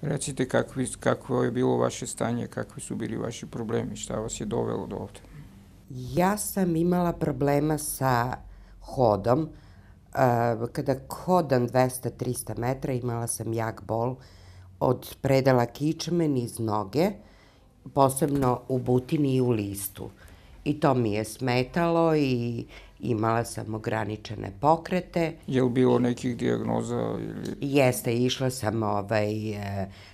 Recite kakvo je bilo vaše stanje, kakvi su bili vaši problemi, šta vas je dovelo do ovde? Ja sam imala problema sa hodom. Kada hodam 200-300 metra imala sam jak bol od predela kičme niz noge, posebno u butini i u listu. I to mi je smetalo i imala sam ograničene pokrete. Je li bilo nekih dijagnoza ili... Jeste, išla sam,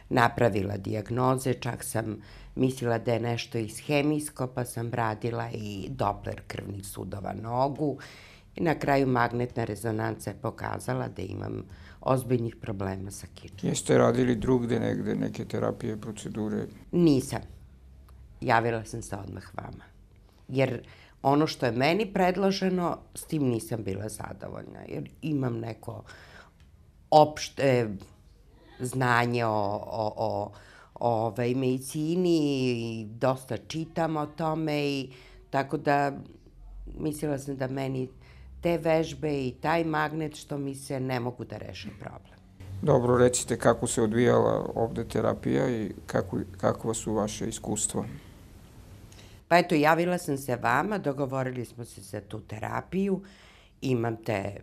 napravila dijagnoze, čak sam mislila da je nešto iz hemijsko, pa sam radila i Doppler krvnih sudova nogu i na kraju magnetna rezonanca je pokazala da imam ozbiljnih problema sa kičmom. Jeste radili drugde negde, neke terapije, procedure? Nisam. Javila sam se odmah vama. Jer ono što je meni predloženo, s tim nisam bila zadovoljna. Jer imam neko opšte znanje o medicini i dosta čitam o tome i tako da mislila sam da meni te vežbe i taj magnet što mi se ne mogu da reše problem. Dobro, recite kako se odvijala ovde terapija i kakva su vaše iskustva? Pa eto, javila sam se vama, dogovorili smo se za tu terapiju, imam te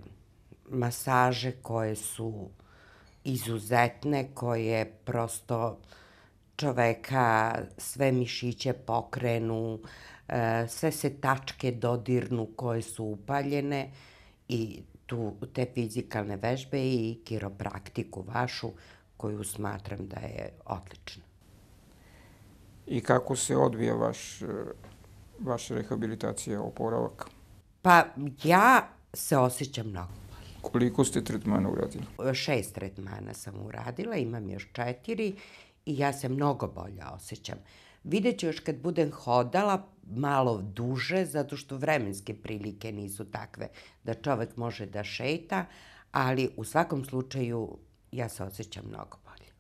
masaže koje su izuzetne, koje prosto čoveka sve mišiće pokrenu, sve se tačke dodirnu koje su upaljene i te fizikalne vežbe i kiropraktiku vašu koju smatram da je odlična. I kako se odvija vaša rehabilitacija, oporavak? Pa ja se osjećam mnogo. Koliko ste tretmana uradili? 6 tretmana sam uradila, imam još 4 i ja se mnogo bolje osjećam. Vidjet ću još kad budem hodala malo duže, zato što vremenske prilike nisu takve da čovek može da šeta, ali u svakom slučaju ja se osjećam mnogo bolje.